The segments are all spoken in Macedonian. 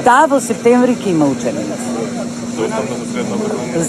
Да, во септември ќе има учебници.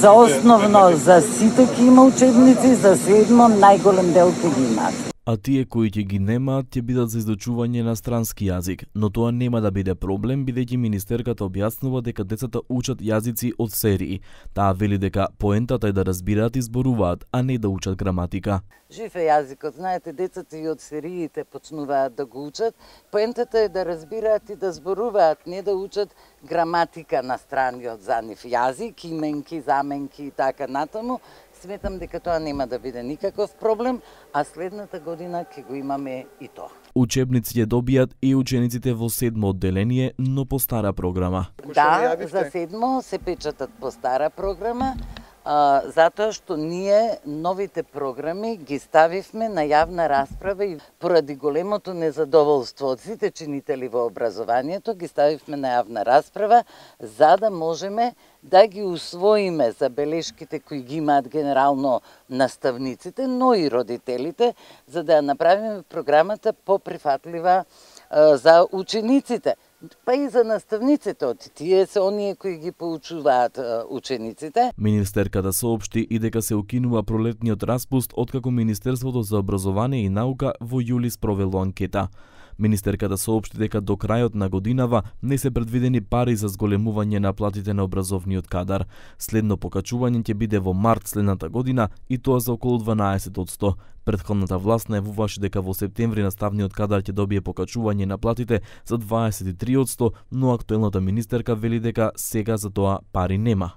За основно, за сите ќе има учебници, за седмо најголем дел ќе ги има. А тие кои ќе ги немаат ќе бидат за изучување на странски јазик, но тоа нема да биде проблем бидејќи министерката објаснува дека децата учат јазици од серии. Таа вели дека поентата е да разбираат и зборуваат, а не да учат граматика. Жив е јазикот, знаете, децата и од сериите почнуваат да го учат. Поентата е да разбираат и да зборуваат, не да учат граматика на страниот за нив јазик, именки, заменки и така натаму. Сметам дека тоа нема да биде никаков проблем, а следната година ќе го имаме и тоа. Учебници ќе добијат и учениците во седмо одделение, но по стара програма. Да, за седмо се печатат по стара програма, затоа што ние новите програми ги ставивме на јавна расправа и поради големото незадоволство од сите чинители во образованието, ги ставивме на јавна расправа, за да можеме да ги усвоиме забелешките кои ги имаат генерално наставниците, но и родителите, за да ја направиме програмата поприфатлива за учениците. Па и за наставниците, од тие се оние кои ги поучуваат учениците. Министерката соопшти и дека се укинува пролетниот распуст откако Министерството за образование и наука во јули спровело анкета. Министерката соопшти дека до крајот на годинава не се предвидени пари за зголемување на платите на образовниот кадар. Следно покачување ќе биде во март следната година и тоа за околу 12%. Претходната власт најавуваше дека во септември наставниот кадар ќе добие покачување на платите за 23%, но актуелната министерка вели дека сега за тоа пари нема.